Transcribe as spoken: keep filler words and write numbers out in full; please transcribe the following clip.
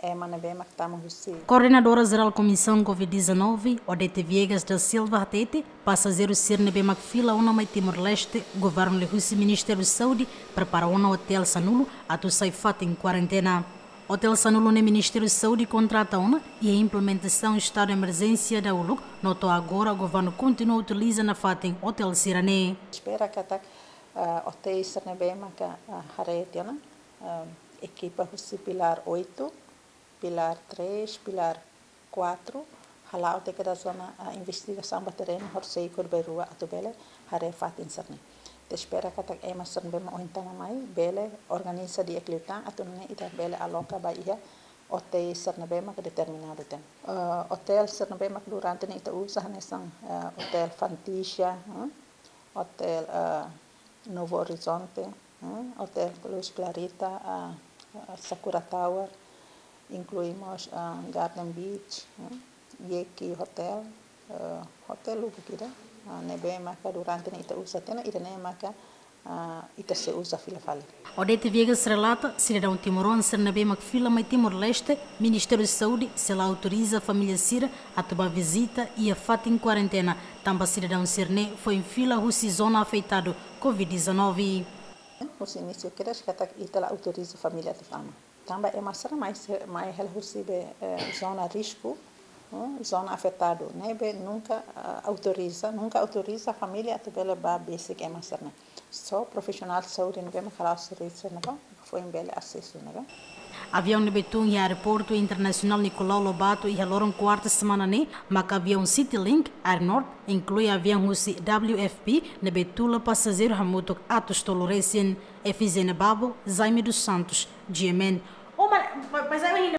Ema ne'ebé mak tama husi. Koordenadora Jerál Komisaun covid dezanove, Odete Viegas da Silva hatete, pasajeiru sira ne'ebé mak fila ona mai Timor-Leste, governu liuhusi Ministériu Saúde prepara ona otél sanulu atu sai fatin kuarentena. Otél sanulu ne'e Ministériu Saúde kontrata ona iha implementasaun estadu emerjénsia dahuluk, no to'o agora governu kontinua utiliza nafatin otél sira-ne'e. Espera katak, ah, otél sira ne'ebé maka, ah, haree tiha ona, ah, ekipa husi pilár oito, pilár três, pilár quatro, hala'o tiha kedas ona, ah, investigasaun ba terrenu, horisehik horibainrua atu bele haree fatin sira-ne'e. Ita espera katak ema sira ne'ebé mak ohin tama mai bele organiza di'ak liután atu nune'e ita bele aloka ba iha otél sira ne'ebé mak determinadu tiha ona. Ah, otél sira ne'ebé mak durante ne'e ita uza hanesan, ah, Otél Fantasia, hmm? Otél, ah, Novo Horizonte, hmm? Otél Luz Clarita, ah, ah, Sakura Tower, inklui mós, ah, Garden Beach, hmm? Yeki Hotel, ah, otél lubuk ida, ah, ne'ebé maka durante ne'e ita uza tiha ona, ida-ne'e maka, ah, ita sei uza fila fali. Odete Viegas relata, sidadaun timoroan sira ne'ebé mak fila mai Timor-Leste, Ministériu Saúde sei la autoriza família sira atu bá vizita iha fatin kuarentena, tanba sidadaun sira-ne'e foin fila husi zona afetadu covid dezanove. Husi inísiu kedas katak ita la autoriza família atu fila mai. Tanba ema sira mai se-, mai hela husi be, eh, zona risku, eh, zona afetadu. Ne'ebé nunka, ah, autoriza, nunka autoriza família atu bele bá besik ema sira-ne'e. Só profisionál saúde ne'ebé mak hala'o servisu ne'ebá foin bele asesu ne'ebá. Aviaun ne'ebé tun iha Aeroportu Internasionál Nicolau Lobato iha loron kuarta semana ne'e, maka aviaun Citylink, Air North, inklui aviaun husi W F P, ne'ebé tula pasajeiru hamutuk atus tolu resin. Efizénia Babo, Jaime dos Santos, G M N. Oh, mas, mas, mas aí